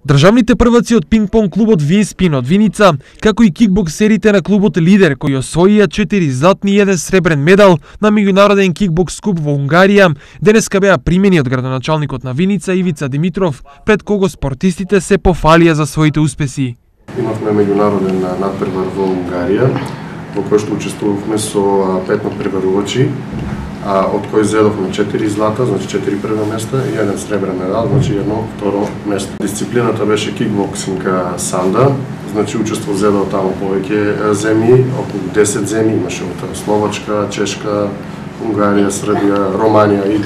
Државните прваци од пинг-понг клубот Винспин од Виница, како и кикбоксерите на клубот Лидер, кои освоија 4 златни и 1 сребрен медал на меѓународен кикбокс куп во Унгарија, денеска беа примени од градоначалникот на Виница Ивица Димитров, пред кого спортистите се пофалија за своите успеси. Имавме меѓународен надпревар во Унгарија, во кој што учествувавме со 5 надпреварувачи, од кои зедовме 4 злата, значи 4 прва места и 1 сребрен медал, значи 1 второ место. Дисциплината беше кикбоксинг санда, значи учество зедо таму повеќе земји, околу 10 земји имаше од Словачка, Чешка, Унгарија, Србија, Романија и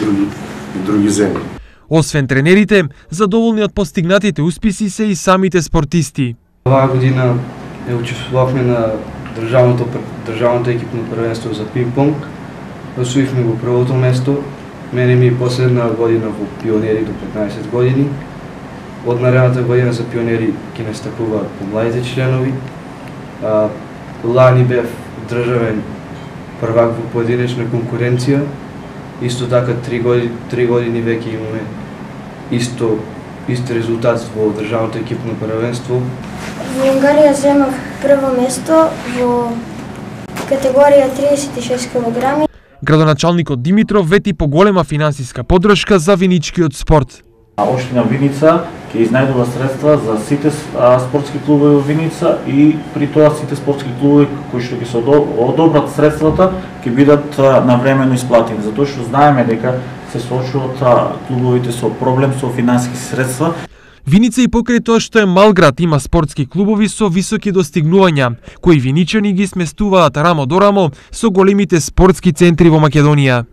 други земји. Освен тренерите, задоволни од постигнатите успеси се и самите спортисти. Оваа година учествувавме на државното екипно првенство за пинг-понг. Освоивме го првото место. Мене ми последна година во пионери до 15 години. Од наредната година за пионери ќе настапуваат помладите членови. Лани бев државен првак во поединечна конкуренција. Исто така 3 години веќе имаме ист резултат во државното екипно првенство. Во Унгарија земав прво место во категорија 36 кг. Градоначалникот Димитров вети поголема финансиска поддршка за виничкиот спорт. Општина Виница ќе изнајдува средства за сите спортски клубови во Виница и при тоа сите спортски клубови кои што ќе се одобрат средствата ќе бидат навремено исплатени, затоа што знаеме дека се соочуваат клубовите со проблем со финансиски средства. Виница и покрај тоа што е мал град има спортски клубови со високи достигнувања, кои виничани ги сместуваат рамо до рамо со големите спортски центри во Македонија.